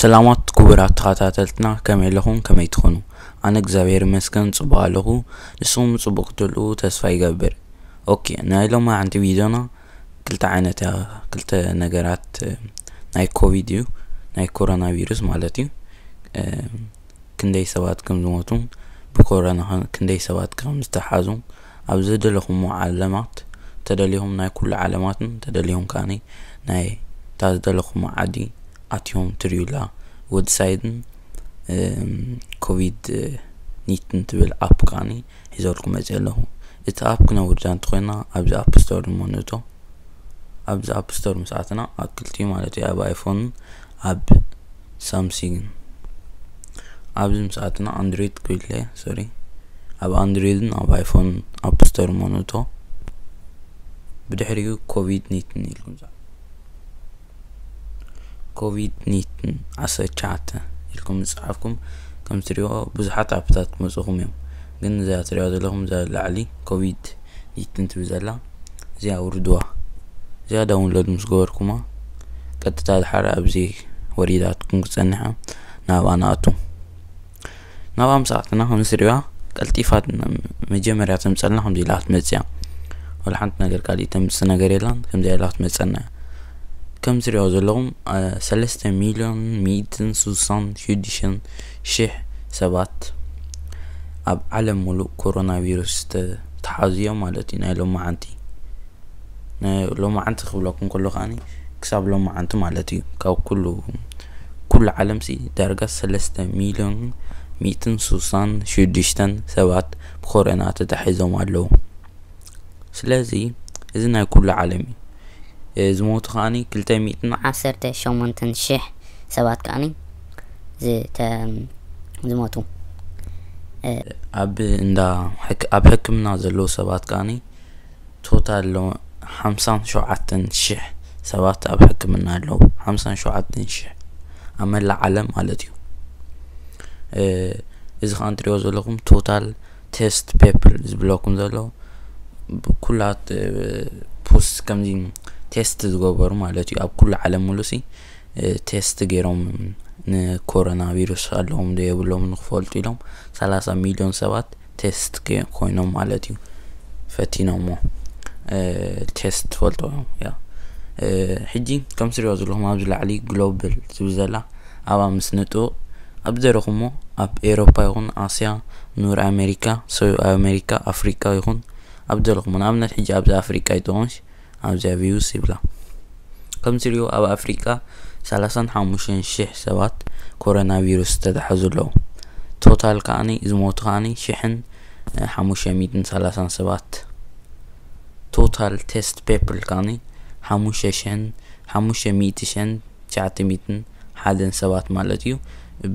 ሰላማት ክቡራት ተኸታተልትና፣ ከመይ ኣለኹም? ከመይ ትኾኑ? ኣነ እግዚኣብሔር ይመስገን ጽቡቕ ኣለኹ። ንስኹም ጽቡቕ ክትህልዉ ተስፋ ይገብር። ኦኬ፣ ናይ ሎማዓንቲ ቪድዮና ክልተ ዓይነት እያ፣ ክልተ ነገራት፣ እ፣ ናይ ኮቪድ እዩ፣ ናይ ኮሮና ቪሩስ ማለት እዩ። እ፣ ክንደይ ሰባት ከም ዝሞቱን ብኮሮና ከ-፣ ክንደይ ሰባት ከም ዝተሓዙን ኣብ ዝደለኹሞ ዓለማት ተደሊኹም ናይ ኩሉ ዓለማትን ተደሊኹም ከኣኒ ናይ እታ ዝደለኹሞ ዓዲ ኣትዮም ትርእዩላ። ወድሳይድን፣ እም፣ ኮቪድ ኒትን ትብል ኣፕ ከኣኒ ሒዘልኩም መፅእ ኣለኹ። እቲ ኣፕ ክነውርዳ እንተኾይና ኣብዚ ኣፕ ስቶር እሞ ንእቶ። ኣብዚ ኣፕ ስቶር ምስ ኣትና ኣብ ክልቲኡ ማለት እዩ፣ ኣብ ኣይፎን ኣብ ሳምሲንግ። ኣብዚ ምስ ኣትና ኣንድሮይድ ክብለ፣ ሶሪ፣ ኣብ ኣንድሮይድን ኣብ ኣይፎን ኣፕ ስቶር እሞ ንእቶ። ብድሕሪኡ ኮቪድ ኒትን ኢልኩም ዛ-፣ ኮቪድ ኒትን ዓሰርተ ትሽዓተ ኢልኩም ዝጸሓፍኩም ከም ትሪኦ ብዙሓት ኣፕታት ክመጽኹም እዮም። ግን እዛ ትሪኦ ዘለኹም እዛ ላዕሊ ኮቪድ ኒትን ትብል ዘላ እዚኣ ውርድዋ። እዚኣ ዳውንሎድ ምስ ገበርኩማ ቀጥታ ድሓር ኣብዚ ወሪዳትኩም ክጸንሐ ናብኣ ንኣቱ። ናብኣ ምስ ኣትና ከም ዝሪዋ ቀልጢፋ መጀመርያ ተምጸልና ከምዚ ኢላ ክትመጽእ እያ። ወላ ሓንቲ ነገር ካልእ ተምጽእ ነገር የላን፣ ከምዚ ኢላ ክትመጸና እያ። ከም ዝሪኦ ዘለኹም፣ አ፣ ሰለስተ ሚልዮን ሚእትን ስሳን ሽዱሽተን ሽሕ ሰባት ኣብ ዓለም ሙሉእ ኮሮና ቪሩስ ተ-፣ ተሓዝዮም ማለት እዩ። ናይ ሎማዓንቲ፣ ናይ ሎማዓንቲ ክብለኩም ከሎ ከኣኒ ክሳብ ሎማዓንቲ ማለት እዩ። ካብ ኩሉ፣ ኩሉ ዓለም ሲ ዳርጋ ሰለስተ ሚልዮን ሚእትን ስሳን ሽዱሽተን ሰባት ብኮሮና ተታሒዞም ኣለዉ። ስለዚ እዚ ናይ ኩሉ ዓለም እዩ። እ፣ ዝሞቱ ከኣኒ ክልተ ሚእትን ዓሰርተ ሸሞንተን ሽሕ ሰባት ከኣኒ ዝተ-፣ ዝሞቱ። እ፣ ኣብ እንዳ ሕክ-፣ ኣብ ሕክምና ዘለዉ ሰባት ከኣኒ ቶታል ሎ-፣ ሓምሳን ሸውዓተን ሽሕ ሰባት ኣብ ሕክምና ኣለዉ። ሓምሳን ሸውዓተን ሽሕ ኣብ መላእ ዓለም ማለት እዩ። እ፣ እዚ ከኣ እንትሪኦ ዘለኹም ቶታል ቴስት ፔፕል ዝብለኩም ዘሎ ብኩላት፣ እ፣ ፖስት ከምዚ ቴስት ዝገበሩ ማለት እዩ። ኣብ ኩሉ ዓለም ሙሉሲ፣ እ፣ ቴስት ገይሮም ንኮሮና ቪሩስ ኣለዎም ዶ የብሎም ንክፈልጡ ኢሎም ሰላሳ ሚልዮን ሰባት ቴስት ከ-፣ ኮይኖም ማለት እዩ። ፈቲኖሞ፣ እ፣ ቴስት ትፈልጦ እዮም። ያ፣ እ፣ ሕጂ ከም ትሪኦ ዘለኹም ኣብዚ ላዕሊ ግሎብል ዝብል ዘላ ኣብኣ ምስ ንጥውቕ ኣብ ዘለኹሞ ኣብ ኤውሮፓ ይኹን ኣስያ፣ ኑር ኣሜሪካ፣ ሰው ኣሜሪካ፣ ኣፍሪቃ ይኹን ኣብ ዘለኹሞ፣ ንኣብነት ሕጂ ኣብዚ ኣፍሪቃ ይጠቕምሽ ኣብዚኣ ቪውስ ይብላ። ከም ትሪኦ ኣብ ኣፍሪቃ ሰላሳን ሓሙሽተን ሽሕ ሰባት ኮሮና ቪሩስ ዝተታሕዙ ኣለዉ። ቶታል ከኣኒ ዝሞቱ ከኣኒ ሽሕን ሓሙሽተ ሚእትን ሰላሳን ሰባት። ቶታል ቴስት ፔፕል ከኣኒ ሓሙሽተ ሽሕን ሓሙሽተ ሚእቲ ሽሕን ትሽዓተ ሚእትን ሓደን ሰባት ማለት እዩ።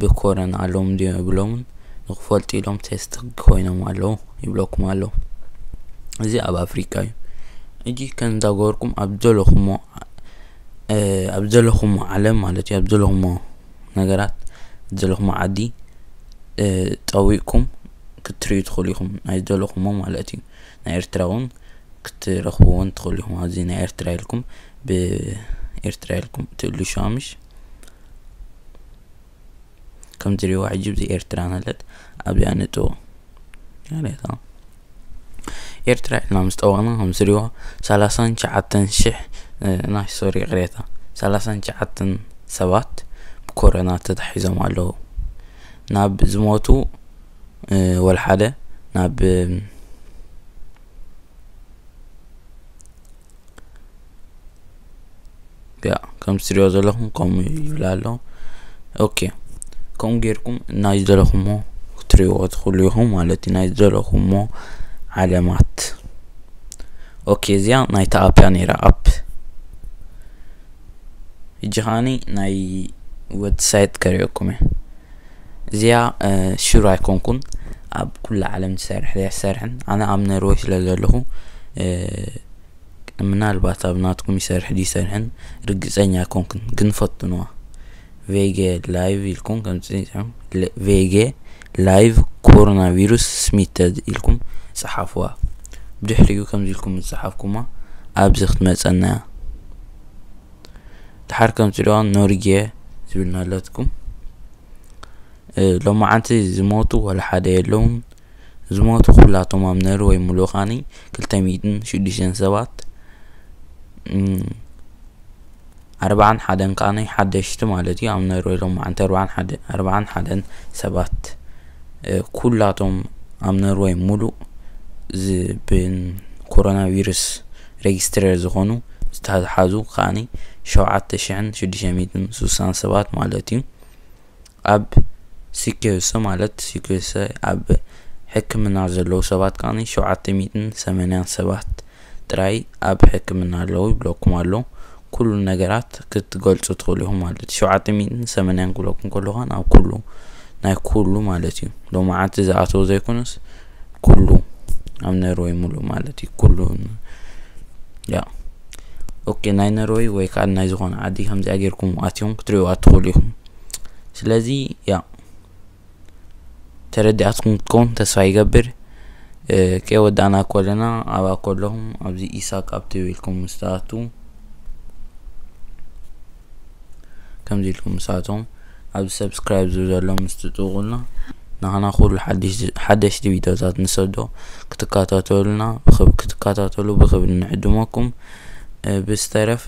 ብኮረና ኣለዎም ድዮም የብሎምን ንክፈልጡ ኢሎም ቴስት ኮይኖም ኣለዉ ይብለኩም ኣለዉ። እዚ ኣብ ኣፍሪቃ እዩ። ሕጂ ከም እንዳገበርኩም ኣብ ዘለኹሞ፣ እ፣ ኣብ ዘለኹሞ ዓለም ማለት እዩ፣ ኣብ ዘለኹሞ ነገራት፣ ዘለኹሞ ዓዲ፣ እ፣ ጠዊቕኩም ክትርእዩ ትኽእሉ ኢኹም። ናይ ዘለኹሞ ማለት እዩ። ናይ ኤርትራ እውን ክትረኽብዎ እውን ትኽእሉ ኢኹም። ኣብዚ ናይ ኤርትራ ኢልኩም፣ ብኤርትራ ኢልኩም ትእልሹ ኣምሽ። ከም ትሪእዋ ሕጂ ብዚ ኤርትራ ናለት ኣብዚኣ ንጥዎ። ያሬታ ኤርትራ ኢልና ምስ ጠወቕና ከም ትሪእዋ ሰላሳን ትሽዓተን ሽሕ፣ እ፣ ናይ ሶሪ ይቕሬታ፣ ሰላሳን ትሽዓተን ሰባት ብኮሮና ተታሒዞም ኣለዉ። ናብ ዝሞቱ፣ እ፣ ወላ ሓደ ናብ፣ እ፣ ያ፣ ከም ትሪኦ ዘለኹም ከምኡ ይብል ኣሎ። ኦኬ፣ ከምኡ ጌርኩም ናይ ዝደለኹሞ ክትሪእዎ ትኽእሉ ኢኹም ማለት እዩ። ናይ ዝደለኹሞ ዓለማት። ኦኬ፣ እዚኣ ናይታ ኣፕ እያ ነይራ፣ ኣፕ። ሕጂ ከዓኒ ናይ ዌብሳይት ከርእየኩም እየ። እዚኣ፣ እ፣ ሹር ኣይኮንኩን ኣብ ኩላ ዓለም ትሰርሕ ዘይትሰርሕን። ኣነ ኣብ ነርወይ ስለ ዘለኹ፣ እ፣ ምናልባት ኣብ ናትኩም ይሰርሕ ድይሰርሕን ርግጸኛ ኣይኮንኩን፣ ግን ፈትንዋ። ቬጌ ላይቭ ኢልኩም ከምዚ ጽሒፎም፣ ለ-፣ ቬጌ ላይቭ ኮሮና ቪሩስ ስሚተድ ኢልኩም ጸሓፍዋ። ብድሕሪኡ ከምዚ ኢልኩም ዝጸሓፍኩማ ኣብዚ ክትመጸና እያ። ድሓር ከም ትሪእዋ ኖርጌ፣ ዝብል ናለትኩም። ሎማዓንቲ ዝሞቱ ወላ ሓደ የለውን። ዝሞቱ ኩላቶም ኣብ ነርወይ ሙሉእ ካኒ ክልተ ሚእትን ሽዱሽተን ሰባት፣ ኣርባዓን ሓደን ከዓኒ ሓደሽቲ ማለት እዩ። ኣብ ነርወይ ሎማዓንቲ ኣርባዓን ሓደን ሰባት፣ ኩላቶም ኣብ ነርወይ ሙሉእ ብኮሮና ቪሩስ ሬጅስትረር ዝኾኑ ዝተሓዙ ከዓኒ ሸውዓተ ሽሕን ሽዱሽተ ሚእትን ስሳን ሰባት ማለት እዩ። ኣብ ሲኪዮሰ ማለት ሲኪዮሰ ኣብ ሕክምና ዘለዉ ሰባት ከዓኒ ሸውዓተ ሚእትን ሰማንያን ሰባት ጥራይ ኣብ ሕክምና ኣለዉ ይብለኩም ኣሎ። ኩሉ ነገራት ክትገልጹ ትኽእሉ ኢኹም ማለት እዩ። ሸውዓተ ሚእትን ሰማንያን ክብለኩም ከለኹ ኣብ ኩሉ ናይ ኩሉ ማለት እዩ። ሎማዓንቲ ዝኣተዉ ዘይኮነስ ኩሉ ኣብ ነርወይ ሙሉ ማለት እዩ። ኩሉ ያ ኦኬ ናይ ነርወይ ወይ ከዓ ናይ ዝኾነ ዓዲ ከምዚኣ ጌርኩም ኣትዮም ክትሪኡ ኣትኽእሉ ኢኹም። ስለዚ ያ ተረዲኣትኩም ክትከውን ተስፋ ይገብር። ከወዳእና ኮለና ኣብኣ ከለኹም ኣብዚ ኢሳቅ ኣብቲ ኢልኩም ምስ ትኣትዉ ከምዚ ኢልኩም ምስ ኣቶም ኣብዚ ሰብስክራይብ ዝብል ዘሎ ምስ ትጥውቁልና ንዓና ኩሉ ሓደሽቲ ቪድዮታት ንሰዶ ክትከታተሉና ክትከታተሉ ብክብሪ ንዕድመኩም። ብዝተረፈ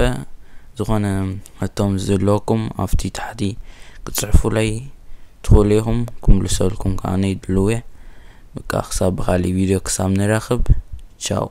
ዝኾነ ሕቶም ዘለኩም ኣብቲ ታሕቲ ክትፅሕፉለይ ትኽእሉ ኢኹም። ክምልሰልኩም ከዓ ድልው እየ። በቃ ክሳብ ብካሊእ ቪድዮ ክሳብ ንራኸብ ቻው።